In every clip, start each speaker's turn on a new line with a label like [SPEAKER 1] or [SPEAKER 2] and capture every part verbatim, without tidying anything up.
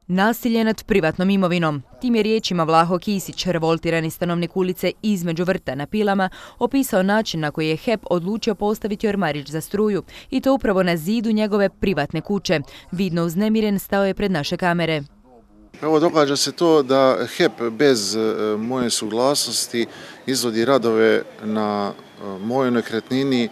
[SPEAKER 1] Nasilje nad privatnom imovinom. Tim je riječima Vlaho Kisić, revoltirani stanovnik ulice Između vrta na Pilama, opisao način na koji je H E P odlučio postaviti ormarić za struju, i to upravo na zidu njegove privatne kuće. Vidno uznemiren stao je pred naše kamere.
[SPEAKER 2] Evo, događa se to da H E P bez moje suglasnosti izvodi radove na mojoj nekretnini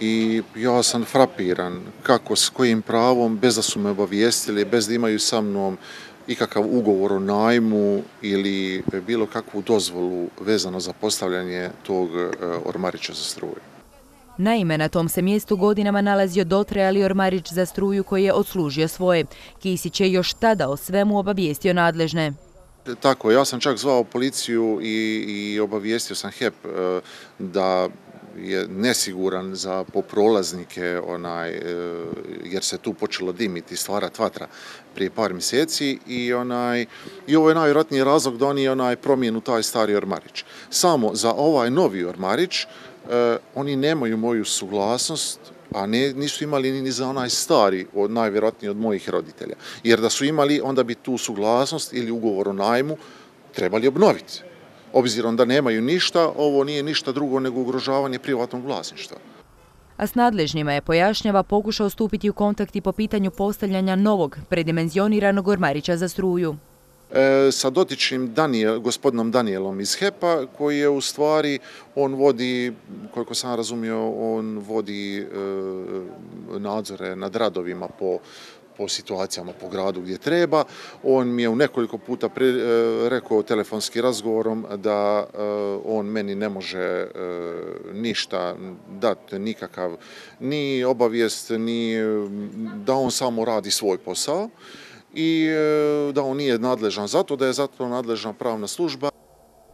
[SPEAKER 2] i ja sam frapiran kako, s kojim pravom, bez da su me obavijestili, bez da imaju sa mnom ikakav ugovor o najmu ili bilo kakvu dozvolu vezano za postavljanje tog ormarića za struju.
[SPEAKER 1] Naime, na tom se mjestu godinama nalazio dotrajali ormarić za struju koji je odslužio svoje. Kisić je još tada o svemu obavijestio nadležne.
[SPEAKER 2] Tako, ja sam čak zvao policiju i, i obavijestio sam H E P da je nesiguran za poprolaznike, onaj, jer se tu počelo dimiti, stvarati vatra prije par mjeseci i, onaj, i ovo je najvjerojatniji razlog da oni onaj, promijenu taj stari ormarić. Samo za ovaj novi ormarić eh, oni nemaju moju suglasnost, a ne, nisu imali ni za onaj stari, od, najvjerojatniji od mojih roditelja. Jer da su imali, onda bi tu suglasnost ili ugovor o najmu trebali obnoviti. Obzirom da nemaju ništa, ovo nije ništa drugo nego ugrožavanje privatnog vlasništva.
[SPEAKER 1] A s nadležnjima je, pojašnjava, pokušao stupiti u kontakt i po pitanju postavljanja novog, predimenzioniranog ormarića za struju.
[SPEAKER 2] E, sa dotičnim Danijel, gospodinom Danijelom iz H E P-a, koji je u stvari, on vodi, koliko sam razumio, on vodi e, nadzore nad radovima po po situacijama po gradu gdje treba. On mi je u nekoliko puta pre, e, rekao telefonski razgovorom da e, on meni ne može e, ništa dati, nikakav ni obavijest, ni da on samo radi svoj posao i e, da on nije nadležan za to, da je za to nadležna pravna služba.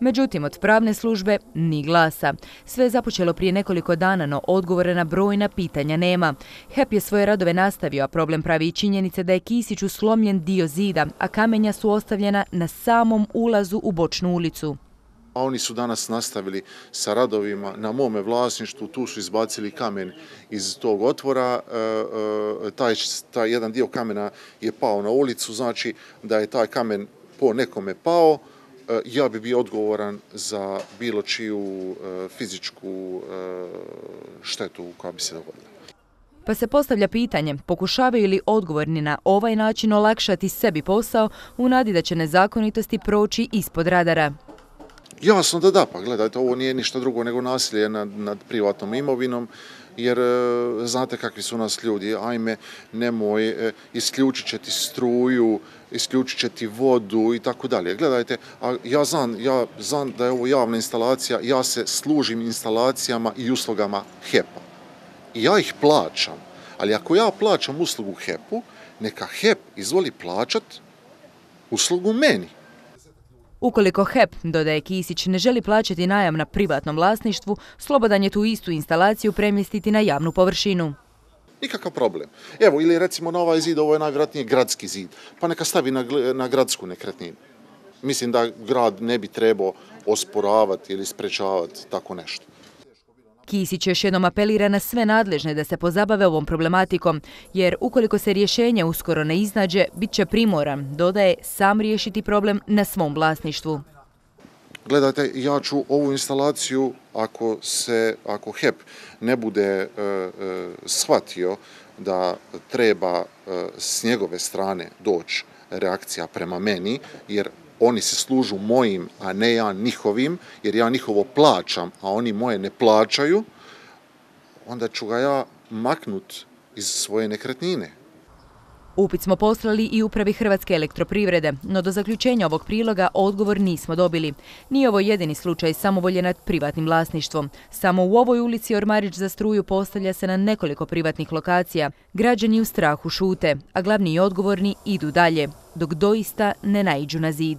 [SPEAKER 1] Međutim, od pravne službe ni glasa. Sve je započelo prije nekoliko dana, no odgovore na brojna pitanja nema. H E P je svoje radove nastavio, a problem pravi i činjenice da je Kisiću slomljen dio zida, a kamenja su ostavljena na samom ulazu u bočnu ulicu.
[SPEAKER 2] A oni su danas nastavili sa radovima na mome vlasništvu, tu su izbacili kamen iz tog otvora, taj, taj jedan dio kamena je pao na ulicu, znači da je taj kamen po nekome pao, ja bi bio odgovoran za bilo čiju fizičku štetu koja bi se dogodila.
[SPEAKER 1] Pa se postavlja pitanje, pokušavaju li odgovorni na ovaj način olakšati sebi posao u nadi da će nezakonitosti proći ispod radara?
[SPEAKER 2] Jasno da da, pa gledajte, ovo nije ništa drugo nego nasilje nad, nad privatnom imovinom, jer e, znate kakvi su nas ljudi, ajme, nemoj, e, isključit će ti struju, isključit će ti vodu i tako dalje. Gledajte, a ja znam, ja znam da je ovo javna instalacija, ja se služim instalacijama i uslugama H E P-a. I ja ih plaćam, ali ako ja plaćam uslugu H E P-u, neka H E P izvoli plaćat uslugu meni.
[SPEAKER 1] Ukoliko H E P, dodaje Kisić, ne želi plaćati najam na privatnom vlasništvu, slobodan je tu istu instalaciju premjestiti na javnu površinu.
[SPEAKER 2] Nikakav problem. Evo, ili recimo na ovaj zid, ovo je najvjerojatnije gradski zid, pa neka stavi na, na gradsku nekretninu. Mislim da grad ne bi trebao osporavati ili sprečavati tako nešto.
[SPEAKER 1] Kisić još jednom apelira na sve nadležne da se pozabave ovom problematikom, jer ukoliko se rješenje uskoro ne iznađe, bit će primoran, dodaje, sam riješiti problem na svom vlasništvu.
[SPEAKER 2] Gledajte, ja ću ovu instalaciju, ako, se, ako H E P ne bude e, e, shvatio da treba e, s njegove strane doći reakcija prema meni, jer oni se služu mojim, a ne ja njihovim, jer ja njihovo plaćam, a oni moje ne plaćaju, onda ću ga ja maknut iz svoje nekretnine.
[SPEAKER 1] Upit smo poslali i upravi Hrvatske elektroprivrede, no do zaključenja ovog priloga odgovor nismo dobili. Nije ovo jedini slučaj samovolje nad privatnim vlasništvom. Samo u ovoj ulici ormarić za struju postavlja se na nekoliko privatnih lokacija. Građani u strahu šute, a glavni i odgovorni idu dalje, dok doista ne naiđu na zid.